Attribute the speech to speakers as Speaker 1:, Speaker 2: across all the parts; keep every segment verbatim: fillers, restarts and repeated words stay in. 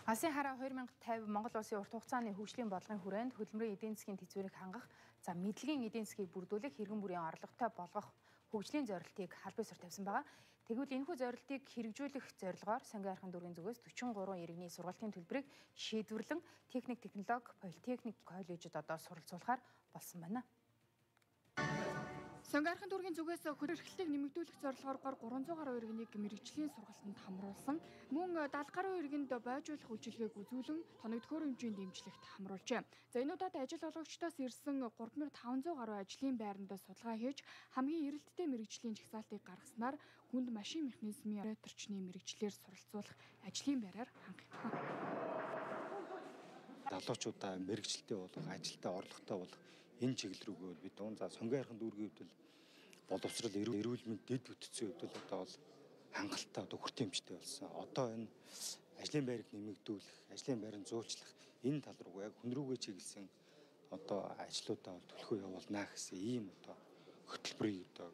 Speaker 1: Алсын хараа хоёр мянга и тавь Монгол улсын урт хугацааны хөгжлийн бодлогын хүрээнд хөдөлмөрийн эдийн засгийн тэзвэрийг хангах, за мэдлэгийн эдийн засгийг бүрдүүлэх, хэрэгэн бүрийн орлоготой болгох хөгжлийн зорилтыг аль бие суурь тавьсан байгаа. Тэгвэл энэхүү зорилтыг хэрэгжүүлэх зорилгоор Сонгон Архын дүүргийн зүгээс дөрвөн гурван иргэний сургалтын төлбөрийг шийдвэрлэн техник, технологи, политехник коллежид одоо суралцуулахаар болсон байна. Сонгон Архын дүүргийн зүгээс хөрөөр эрхлэлтийг нэмэгдүүлэх зорилгоор гурван зуун гаруй иргэнийг мэрэгжлийн сургалтанд хамруулсан. Мөн дагалт гаруй иргэнд бойжуулах үйлчилгээг үзүүлэн тоногдохоор хэмжээнд дэмжлэгт хамруулжээ. За энэ удаад ажил олгогчдоос ирсэн гурван мянган таван зуун гаруй ажлын байранд судалгаа хийж хамгийн эрэлттэй мэрэгжлийн жагсаалтыг гаргаснаар хүнд машин механизмын операторчны мэрэгчлэр суралцуулах ажлын байраар хангах юм.
Speaker 2: Залуучуудаа мэрэгчлэлтэй болох, ажилдаа орлоготой болох энэ чиглэл рүүгээ бид дуун за Сонгон Архын дүүргийн хувьд боловсрал, эрүүл мэнд, дэд бүтцийн хувьд одоо бол хангалттай одоо хүртээмжтэй болсон. Одоо энэ ажлын байрыг нэмэгдүүлэх, ажлын байрыг зуулчлах энэ тал руу яг хүн рүүгээ чиглэсэн одоо ажлуудаа бол төлхөө явуулнаа гэсэн ийм одоо хөтөлбөрийг одоо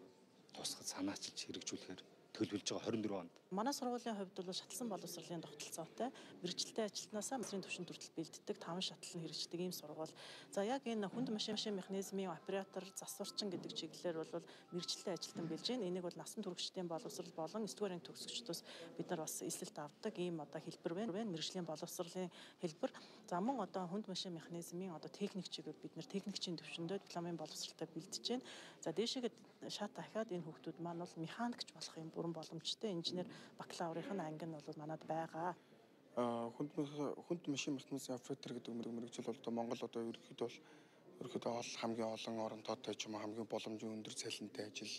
Speaker 2: тусгад санаачилж хэрэгжүүлэхээр төлөвлөж байгаа хорин дөрвөн онд.
Speaker 3: Манай сургуулийн хувьд бол шатлсан боловсролын тогтолцоотой мэрэгчлэлтэй ажилтнаасаа мэдрийн түвшин хүртэл бэлддэг таван шатлал нь хэрэгждэг ийм сургууль. За яг энэ хүнд машин механизмын оператор, засварчин гэдэг чиглэлээр бол мэрэгчлэлтэй ажилтан бэлж байна. Энийг бол насан туршидын боловсрол болон эсдүгээр анги төгсөгчдөөс бид нар бас эсэлт авдаг ийм одоо хэлбэр байна. Мэрэгжлийн боловсролын хэлбэр. За мөн одоо хүнд машин механизмын одоо техник чигээр бид нар техникчийн төвшөндөө дипломын боловсролтой бэлдэж байна. За дээшээгээ шат дахиад энэ хүүхдүүд маань бол механикч болох юм боломжтой инженер бакалаврын анги нь бол манад байгаа.
Speaker 4: Хүнд хүнд машин механизмын оператор гэдэг мэрэгжил бол Монгол одоо ерөнхийдөө бол ерөнхийдөө ол хамгийн олон орон тоотой ч юм уу хамгийн боломжийн өндөр цалинтай ажил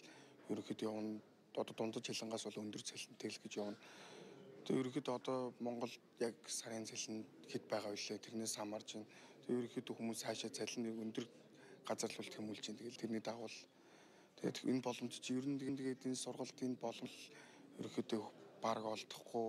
Speaker 4: ерөнхийдөө явна. Одоо дундаж хилангаас бол өндөр цалинтай л гэж явна. Тэгээ ерөнхийдөө одоо Монгол яг сарын цалин хэд байгаа вэ? Тэрнээс хамаарч байна. Тэгээ ерөнхийдөө хүмүүс хаашаа цалиныг өндөр газар л тэмүүлж байна. Тэгэл тэрний дагуу тэгээд энэ боломж чи ер нь тэгээд энэ сургалтын боломж ерөөхдөө баг олдохгүй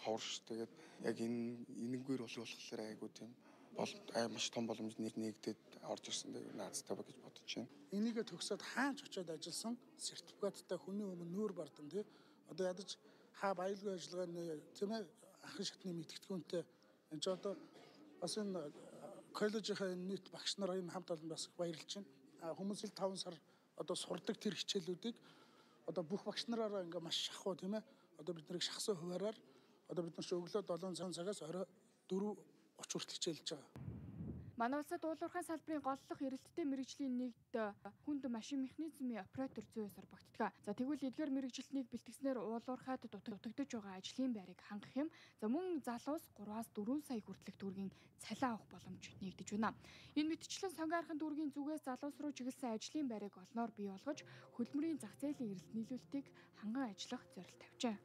Speaker 4: ховорш тэгээд яг энэ энэнгээр болох болохоор айгуу тийм бол ай маш том боломж нэгдээд орж ирсэн дээр наацтай ба гэж бодож байна.
Speaker 5: Энийгээ төгсөөд хаач очиод ажилласан сертификаттай хүний өмнө нүүр бардан тий одоо ядаж хаа баялгүй ажиллагааны тийм ээ ахын шатны мэдгэдэгүнтэй энэ ч одоо бас энэ коллежийнхаа нийт багш нараа энэ хамт олон бас баярлж байна. Хүмүүс л таван сар одоо сурдаг тэр хичээлүүдийг одоо бүх багш нараараа ингээ маш шахуу тийм ээ одоо бид нарыг шахсан хуваараар одоо бид нар ч өглөө долоон цагаас орой дөрөв гуравч хүртэл хичээлж байгаа.
Speaker 1: Манай улсад уулуурхайн салбарын голлох эрэлттэй мэрэгжлийн нэгд хүнд машин механизмын оператор зүйн сорбогддог. За тэгвэл эдгээр мэрэгжилтнийг бэлтгэснээр уулуурхайд дутагдж байгаа ажлын байрыг хангах юм. За мөн залуус гураваас дөрвөн сая хүртэлх төгрөгийн цалин авах боломж нэгдэж байна. Энэ мэтчлэн Сонгон Архын дүүргийн зүгээс залуус руу чиглэсэн ажлын байрыг олноор бий болгож хөдөлмөрийн зах зээлийн эрэлт нийлүүлэлтийг ханган ажиллах зорилт тавьжээ.